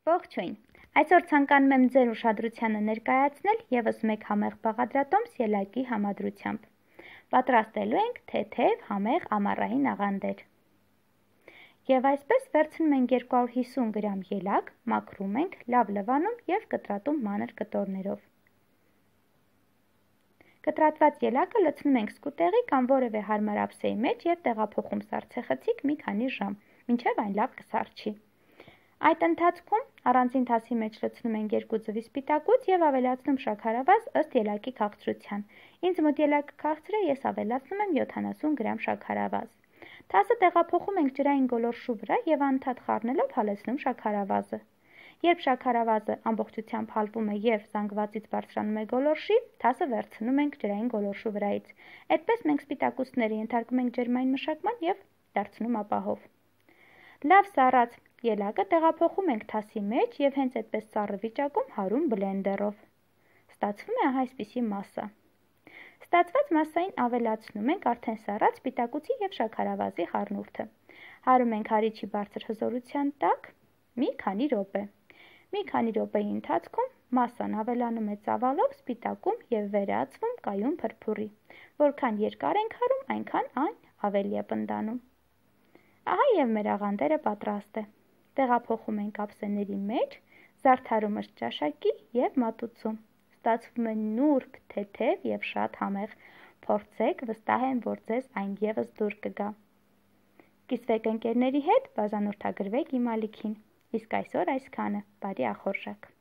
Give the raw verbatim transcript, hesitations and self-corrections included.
Ողջույն, այսօր ցանկանում եմ ձեր ուշադրությանը ներկայացնել ևս մեկ համեղ բաղադրատոմս ելակի համադրությամբ։ Պատրաստելու ենք թեթև համեղ ամառային աղանդեր։ Եվ այսպես վերցնում ենք երկու հարյուր հիսուն գրամ ելակ, մաքրում ենք, լավ լվանում և կտրատում մանր կտորներով։ Կտրատված ելակը լցնում ենք սկուտեղի կամ որևէ հարմար ափսեի մեջ և տեղափոխում սառցեխցիկ մի քանի ժամ, մինչև այն լավ կսառչի։ Այդ ընթացքում առանձին թասի մեջ լցնում ենք երկու ձվի սպիտակուց և ավելացնում շաքարավազ ըստ ելակի քաղցրության։ Ինձ մոտ ելակը քաղցր է, ես ավելացնում եմ յոթանասուն գրամ շաքարավազ։ Թասը տեղափոխում ենք ջրային գոլորշու վրա և անընդհատ խառնելով հալեցնում շաքարավազը։ Երբ շաքարավազը ամբողջությամբ հալվում է և զանգվածից բարձրանում է գոլորշի, թասը վերցնում ենք ջրային գոլորշու վրայից։ Այդպես մենք սպիտակուցները ենթարկում ենք ջերմային մշակման և դարձնում ապահով։ Լավ սառած ելակը տեղափոխում ենք թասի մեջ և հենց այդպես սառը վիճակում հարում բլենդերով։ Ստացվում է ահա այսպիսի մասսա։ Ստացված մասսային ավելացնում ենք արդեն սառած սպիտակուցի և շաքարավազի խառնուրդը։ Հարում ենք հարիչի բարձր հզորության տակ մի քանի րոպե։ Մի քանի րոպեի ընթացքում մասսան ավելանում է ծավալով, սպիտակում և վերածվում կայուն փրփուրի։ Որքան երկար ենք հարում, այնքան այն ավելի է պնդանում։ Ահա և մեր աղանդերը պատրաստ է։ Տեղափոխում ենք ափսեների մեջ, զարդարում ըստ ճաշակի և մատուցում։ Ստացվում է նուրբ, թեթև և շատ համեղ։ Փորձեք, վստահ եմ, որ ձեզ այն ևս դուր կգա։ Կիսվեք ընկերների հետ, բաժանորդագրվեք իմ ալիքին։ Իսկ այսօր այսքանը, բարի ախորժակ։